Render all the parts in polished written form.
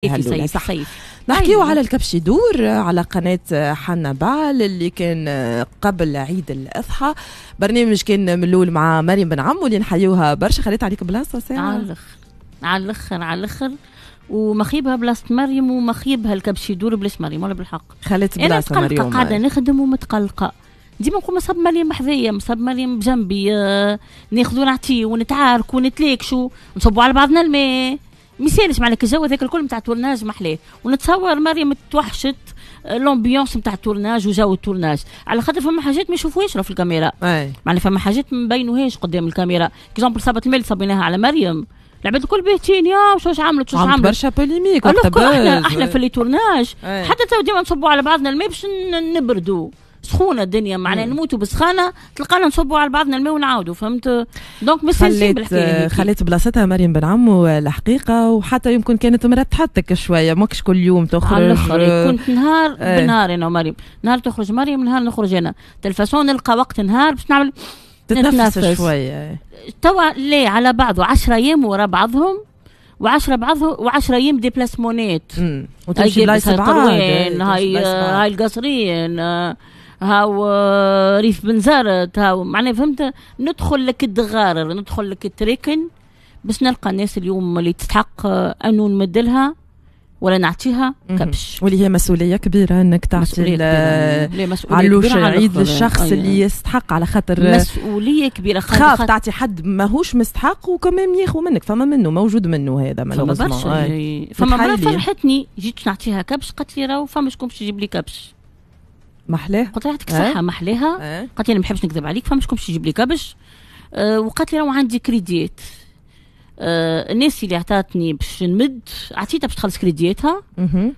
صيفي صح. صيفي. نحكيو على الكبش يدور على قناة حنبعل اللي كان قبل عيد الأضحى، برنامج كان من الأول مع مريم بن عمو اللي نحيوها برشا. خليت عليك بلاصة ساعة على الآخر على الآخر على الآخر، ومخيبها بلاصة مريم ومخيبها الكبش يدور بلاش مريم ولا بالحق. خليت بلاصة مريم. أنا قاعدة نخدم ومتقلقة ديما نقول مصاب مريم بحذايا، مصاب مريم بجنبي، ناخذو نعطيه ونتعاركو ونتلاكشو نصبوا على بعضنا الماء، ميسالش معناها الجو هذاك الكل نتاع tournage محلاه. ونتصور مريم توحشت l'ambiance نتاع ال tournage وجو ال tournage، على خاطر فما حاجات ما يشوفوهاش في الكاميرا، معناها فما حاجات ما نبينوهاش قدام الكاميرا. exemple صابت الماء اللي صبيناها على مريم، العباد الكل باهتين يا شوش عملت شوش عملت، برشا polémique. احنا في les tournages حتى تو ديما نصبوا على بعضنا الماء باش نبردوا، سخونة الدنيا معناها نموتوا بسخانه، تلقانا نصبوا على بعضنا الماء ونعاودوا، فهمت؟ donc مستانسين بالحكاية. خليت بلاصتها مريم بن عمو الحقيقة، وحتى يمكن كانت مرتحتك شوية، ماكش كل يوم تخرج. على الاخر كنت نهار بنهار انا ومريم، نهار تخرج مريم نهار نخرج انا، تلفزيون نلقى وقت نهار باش نعمل تتنفس شوية. توا لا على بعضه 10 ايام ورا بعضهم، و10 بعضهم و10 ايام déplacement ات، وتمشي بلايص بعاد، هاي القصرين، هاو ريف بنزرت، هاو معناها فهمت. ندخل لك الدغارر، ندخل لك التريكن باش نلقى الناس اليوم اللي تستحق انه نمدلها ولا نعطيها كبش، واللي هي مسؤولية كبيرة انك تعطي علوش العيد للشخص اللي يستحق، على خاطر مسؤولية كبيرة. خاف تعطي حد ماهوش مستحق وكمان ياخذ منك، فما منه موجود منه هذا. فما برشا، فما مرة فرحتني جيت نعطيها كبش، قالت لي راهو فما شكون باش يجيب لي كبش. محلاه، قلت لها يعطيك الصحة محلاها. قالت لي انا ما نحبش نكذب عليك، فما شكون باش يجيب لي كبش. وقالت لي راهو عندي كريديات، الناس اللي عطاتني باش نمد عطيتها باش تخلص كريدياتها.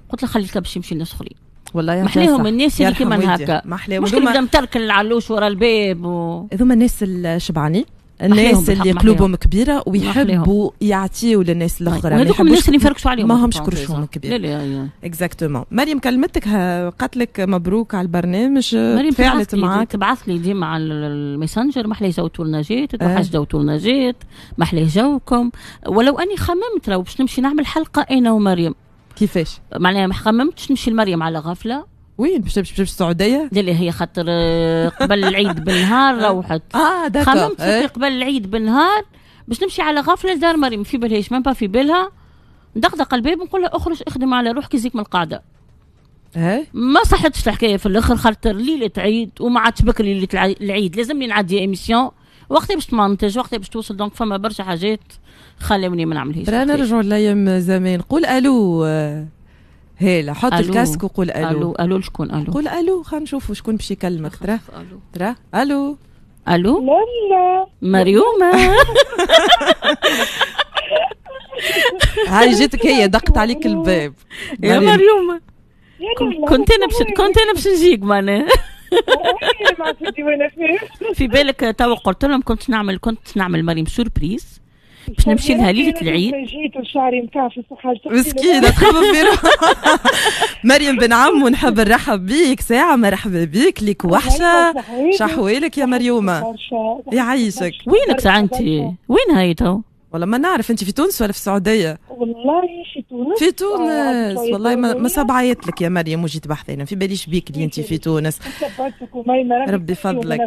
قلت لها خلي الكبش يمشي للناس اخرين. والله محلاهم الناس اللي كيما هكا، مش اللي مترك العلوش ورا الباب هذوما الناس الشبعانين، الناس اللي قلوبهم كبيرة ويحبوا يعطيوا للناس الاخرى، وهذوك الناس اللي نفركشوا عليهم ماهمش كرشهم كبير. لا exactement. مريم كلمتك قالت لك مبروك على البرنامج، تفاعلت معاك، تبعث لي ديما على الميسنجر محلاه جو tournage ات، توحش جو tournage ات، محلاه جوكم. ولو اني خممت لو باش نمشي نعمل حلقة انا ومريم. كيفاش؟ معناها ما خممتش نمشي لمريم على غفلة. وين باش تمشي؟ السعودية؟ لا هي خاطر قبل العيد بالنهار روحت. d'accord. خممت قبل العيد بالنهار باش نمشي على غفلة لدار مريم، في بالهاش même pas في بالها، ندقدق الباب نقول لها اخرج اخدم على روحك يزيك من القاعدة. ما صحتش الحكاية في الاخر، خاطر ليلة عيد وما عادش بكري ليلة العيد، لازمني نعدي émission وقتها باش تمنتج، وقتها باش توصل، donc فما برشا حاجات خلوني ما نعملهاش. رانا نرجعوا لايام زمان. قول الو هيلا، حط ال casque وقول الو. الو الو لشكون الو؟ قول الو، خلينا نشوفوا شكون باش يكلمك. ترى ترى الو الو. لا مريومه. هاي جاتك هي دقت عليك الباب يا مريومه. كنت انا باش نجيك معناها. في بالك توا قلت لهم كنت نعمل مريم surprise باش نمشي لها ليلة العيد. جيت وشعري مكعفس وحاجه مسكينه تخمم في روحها. مريم بن عمو نحب نرحب بيك ساعة، مرحبا بيك، ليك وحشة، شحوالك يا مريومه؟ يعيشك. وينك ساعة انت؟ وين هاي تو؟ والله ما نعرف، انت في تونس ولا في السعودية؟ والله في تونس. في تونس والله ما صاب عيطت لك يا مريم وجيت بحثنا، في باليش بيك اللي انت في تونس. ربي فضلك.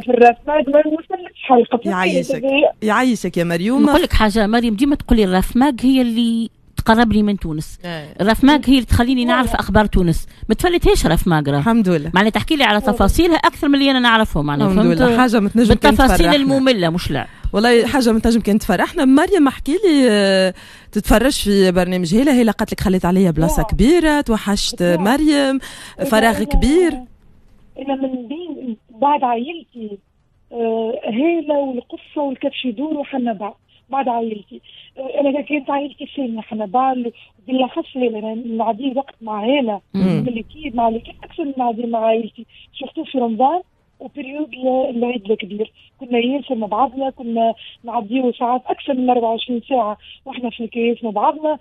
يعيشك يعيشك يا مريوم. نقول لك حاجة مريم، ديما تقول لي ال RAFMAG هي اللي تقربني من تونس، ال RAFMAG هي اللي تخليني نعرف اخبار تونس، ما تفلتهاش RAFMAG راه. الحمد لله. معناها تحكي لي على تفاصيلها اكثر من اللي انا نعرفهم، معناها الحمد لله. حاجة ما تنجم كان بالتفاصيل الممله مش لا. والله حاجة ما تنجم كان تفرحنا. مريم احكي لي، تتفرج في برنامج هيلا، هيلا قالت لك خليت عليا بلاصة كبيرة، توحشت مريم، فراغ كبير. انا من بين بعد عائلتي هيلا والقصه والكبش يدور وحنبعل، بعد عائلتي انا كانت عائلتي الثانية حنبعل، بالاخص هيلا، انا نعدي وقت مع هيلا من l'équipe مع l'équipe اكثر من نعدي مع عائلتي، surtout في رمضان و période العيد الكبير، كنا ياسر مع بعضنا، كنا نعديو ساعات اكثر من 24 ساعة واحنا في الكيس مع بعضنا.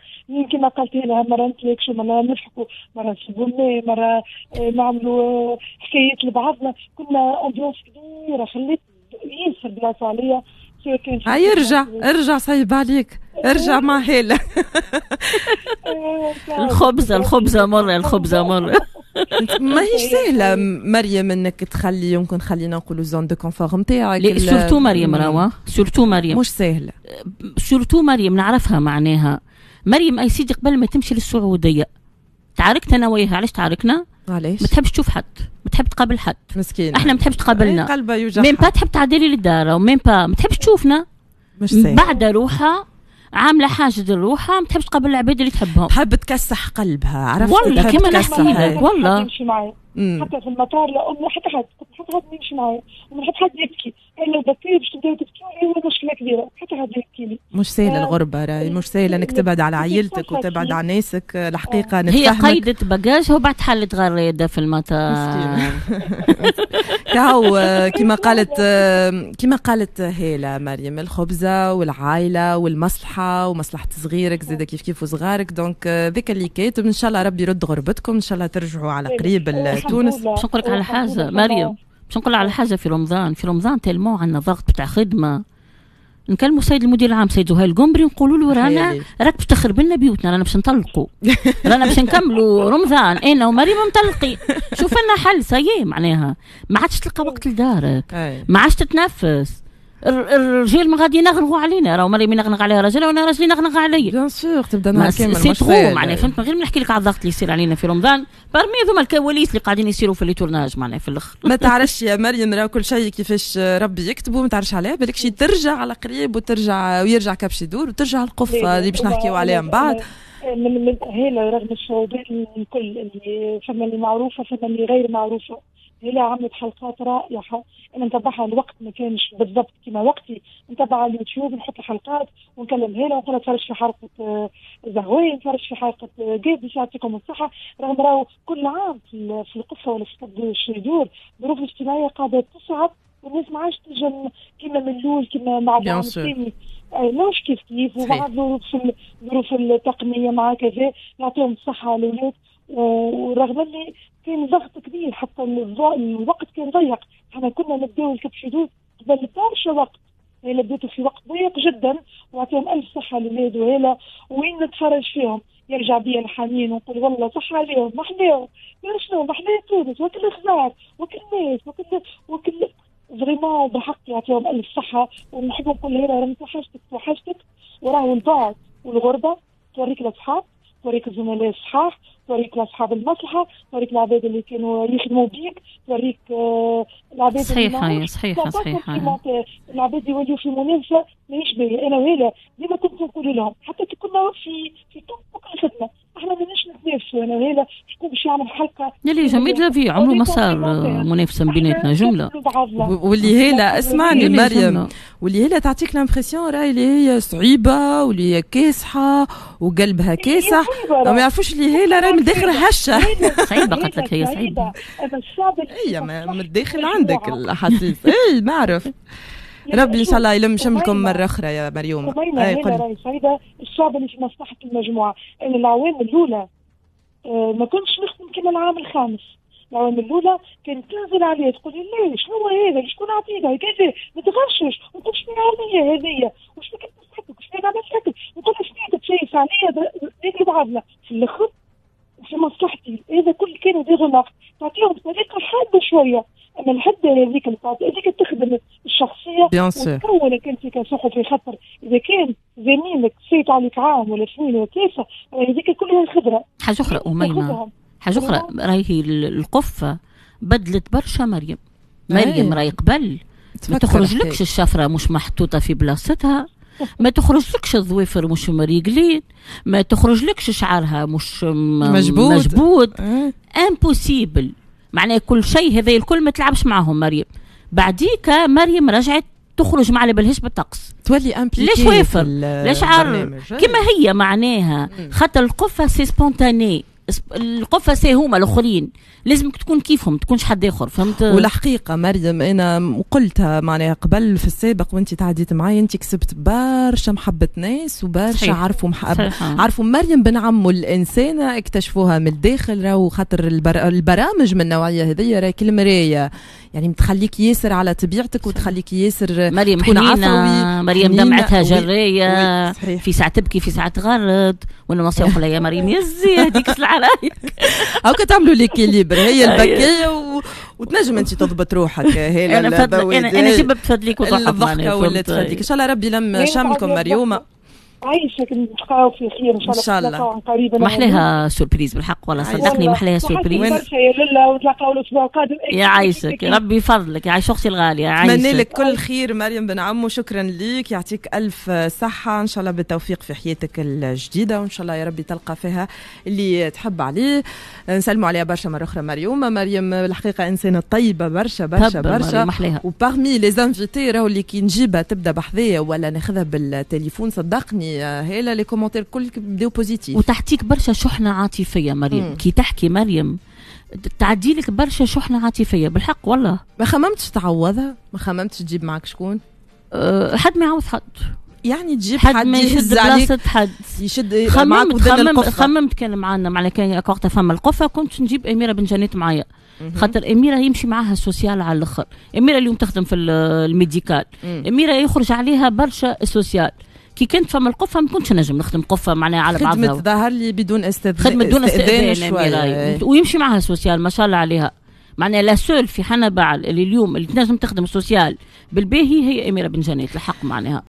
كما قالت لها مرة نتلاكشوا، مرة نضحكوا، مرة نسبوا الماء، مرة نعملوا حكايات لبعضنا، كنا ambiance كبيرة، خليت ياسر بلاصة عليا. سواء كان ارجع ارجع صعيب عليك، ارجع مع هالة. الخبزة الخبزة مرة، الخبزة مرة. ما هيش سهلة مريم انك تخلي، يمكن خلينا نقولوا zone de confort نتاعك. surtout مريم راوا، surtout مريم مش سهلة. surtout مريم نعرفها معناها. مريم اي سيدي قبل ما تمشي للسعودية تعاركت انا وياها. علاش تعاركنا؟ علاش؟ ما تحبش تشوف حد، ما تحب تقابل حد. مسكينة. احنا ما تحبش تقابلنا، قلبها يوجعها. même pas تحب تعدلي للدار و même pas ما تحبش تشوفنا. مش سهل. بعد روحها عامله حاجة لروحها، ما تحبش تقابل العباد اللي تحبهم. تحب تكسح قلبها، عرفت؟ والله كيما نحكي لك والله. يمشي معايا حتى في المطار، لا امي حتى حد، حتى حد يمشي معايا، وما نحب حد يبكي. انا لو بكيت باش تبداو تبكيو هي مشكلة كبيرة، حتى حد يبكي لي. مش سهلة الغربة راهي، مش سهلة انك تبعد على عائلتك وتبعد على ناسك الحقيقة. هي قيدت bagage ها وبعد حلت غريده في المطار. كهو كما قالت هيلا مريم، الخبزة والعائلة والمصلحة ومصلحه صغيرك زاده كيف كيف وصغارك، donc ذاك اللي كاتب. ان شاء الله ربي يرد غربتكم، ان شاء الله ترجعوا على قريب لتونس. باش نقول لك على حاجة مريم، باش نقول على حاجه، في رمضان، في رمضان tellement عندنا ضغط بتاع خدمه، نكلموا السيد المدير العام سيد زهير القنبري، نقولوا له رانا راك باش تخرب لنا بيوتنا، رانا باش نطلقوا، رانا باش نكملوا رمضان انا ومريم مطلقين، شوف لنا حل. ça y est معناها ما عادش تلقى وقت لدارك، ما عادش تتنفس. الرجال ما غادي ينغنغوا علينا، راهو مريم ينغنغ عليها راجل وانا راجلي ينغنغ عليا. bien sûr تبدا نهار كامل. c'est trop معناها، فهمت؟ من غير ما نحكي لك على الضغط اللي يصير علينا في رمضان، parmi ذوما الكواليس اللي قاعدين يصيروا في les tournages معناها في الاخر. ما تعرفش يا مريم، راه كل شيء كيفاش ربي يكتبه، ما تعرفش عليه، بالك شي ترجع على قريب وترجع ويرجع كبش يدور وترجع القفه اللي باش نحكيو عليها من بعد. من هنا رغم الصعوبات الكل اللي فما، اللي معروفة فما اللي غير معروفه، هي عملت حلقات رائعه، انا نتبعها. الوقت ما كانش بالضبط كما وقتي، نتبع على اليوتيوب، نحط الحلقات ونكلم هيلا ونقول تفرج في حلقة زهوين، تفرج في حلقة قابس، يعطيكم الصحه. رغم راهو كل عام في القفه ولا في كبش يدور الظروف الاجتماعية قاعدة تصعب والناس ما عادش تنجم كما من الاول، كما مع العام الثاني مش كيف كيف، ومع الظروف التقنية مع كذا. يعطيهم الصحة الاولاد، ورغم اللي كان ضغط كبير حتى الوقت كان ضيق، احنا كنا نبداو الكبش يدور قبل برشا وقت، هي بديتوا في وقت ضيق جدا، ويعطيهم الف صحة الاولاد. وهلا وين نتفرج فيهم يرجع بيا الحنين ونقول والله صح عليهم، ما حلاهم، شنو ما حلاه تونس وكل الخضار وكل الناس وكل vraiment بالحق يعطيهم الف صحه. ونحب نقول لها راني توحشتك توحشتك، وراهو البعد والغربة توريك الاصحاب، توريك الزملاء الصحاح، توريك اصحاب المصلحه، توريك العباد اللي كانوا يخدموا بيك، توريك العباد. صحيحه صحيحه صحيحه. العباد يوليو في منافسه ماهيش باهيه. انا وهلا ديما كنت نقول لهم حتى كي كنا في top الخدمه، احنا ماناش نتنافسوا انا وهلا شكون باش يعمل حلقه. لا jamais de la vie، عمره ما صار منافسه بيناتنا جمله. واللي هي اسمعني مريم، واللي هي تعطيك l'impression راهي اللي هي صعيبة واللي هي كاسحه وقلبها كاسح، ما يعرفوش اللي هي راهي من الداخل هشه. صعيبه، قلت لك هي صعيبه. هي من الداخل عندك الاحاسيس، اي نعرف. ربي ان شاء الله يلم شملكم مرة اخرى يا مريوم. اي راهي صعيبه، الصعبة اللي في مصلحة المجموعه. انا العوام الاولى ما كنتش نخدم كما العام الخامس. العوام الاولى كانت تنزل عليا تقول لي ليه، شنو هذا، شكون عطيتها كذا، ما تغشش، ونقول شنو عليا هذيا وش كنت نضحك وش عملت لك، نقول شنو تشيف عليا، ناكلوا بعضنا في الاخر في مصلحتي. هذا كل كانوا des remarques تعطيهم بطريقة حادة شويه، اما الحدة هذيك هذيك تخدم الشخصية وتكونك انت كصحفي، خاطر اذا كان زميلك فات عليك عام ولا اثنين ولا ثلاثه، هذيك كلها الخبره. حاجة اخرى اميمه، حاجة اخرى، راهي القفه بدلت برشا مريم. مريم راهي قبل ما تخرج لكش الشفرة مش محطوطة في بلاصتها، ما تخرج لكش الظوافر مش مريقلين، ما تخرج لكش شعرها مش مجبود. مجبود impossible معناه كل شيء هذا الكل ما تلعبش معهم مريم. بعديك مريم رجعت تخرج ما على بالهاش بالطقس. تولي impliquée. لا شوافر لا شعر كما هي معناها، خاطر القفه c'est spontané، القفه c'est هما الاخرين، لازمك تكون كيفهم، تكونش حد اخر، فهمت؟ والحقيقة مريم انا قلتها معناها قبل في السابق وانت تعديت معايا، انت كسبت برشا محبة ناس وبرشا عرفوا عرفوا مريم بن عمو الانسانه، اكتشفوها من الداخل. راهو خاطر البرامج من النوعية هذيا راهي كالمرايه. يعني تخليك ياسر على طبيعتك وتخليك ياسر مريم تكون حنينة، عفوي. مريم حنينة. دمعتها oui، جرية. oui، صحيح. في ساعة تبكي، في ساعة تغرد، وانا نصيحة نقول لها يا مريم يزي هذيك السلعة رايك. هاكا تعملوا l'équilibre، هي البكية وتنجم انت تضبط روحك هي. انا فضل انا جيب بتفدليك وضحك. الضحكة ولا تفدليك. ان شاء الله ربي لم شملكم مريومه. عايشك، نتلقاو في خير ان شاء الله. إن شاء الله. نتلاقاو عن قريب. محلاها surprise بالحق والله، صدقني محلاها surprise. برشا يا للا، ونتلاقاو الاسبوع القادم. يا عايشك، ربي يفضلك، يا عايش اختي الغاليه. نتمنى عايشك. لك كل خير مريم بن عمو، شكرا ليك، يعطيك الف صحه، ان شاء الله بالتوفيق في حياتك الجديده، وان شاء الله يا ربي تلقى فيها اللي تحب عليه. نسلموا عليها برشا مرة اخرى مريوم. مريم الحقيقة انسانه طيبة برشا برشا تهبل برشا. مريم، محلاها. و parmi les invités راهو اللي كي نجيبها تبدا بحذايا ولا ناخذها بالتليفون، صدقني هيلا les commentaires كل بداو positifs. وتعطيك برشا شحنه عاطفية مريم. كي تحكي مريم تعدي لك برشا شحنه عاطفية بالحق والله. ما خممتش تعوضها؟ ما خممتش تجيب معك شكون؟ حد ما يعوض حد. يعني تجيب حد حد ما يهز يشد عليك، بلاصة حد. يشد معك خممت ودن خممت القفة. خممت، كان معنا معناها كان وقتها فما القفه كنت نجيب اميره بن جنات معايا، خاطر اميره يمشي معاها ال social على الاخر. اميره اليوم تخدم في ال médical. اميره يخرج عليها برشا ال social. كي كنت فما القفه ما كنتش نجم نخدم قفة معناها على خدمة بعضها. ظهر لي بدون استئذان. خدمة دون استئذان. شوية. أميرة. ويمشي معها social ما شاء الله عليها، معناها la seule في حنبعل اللي اليوم اللي تنجم تخدم social بالباهي هي اميره بن جنات الحق معناها.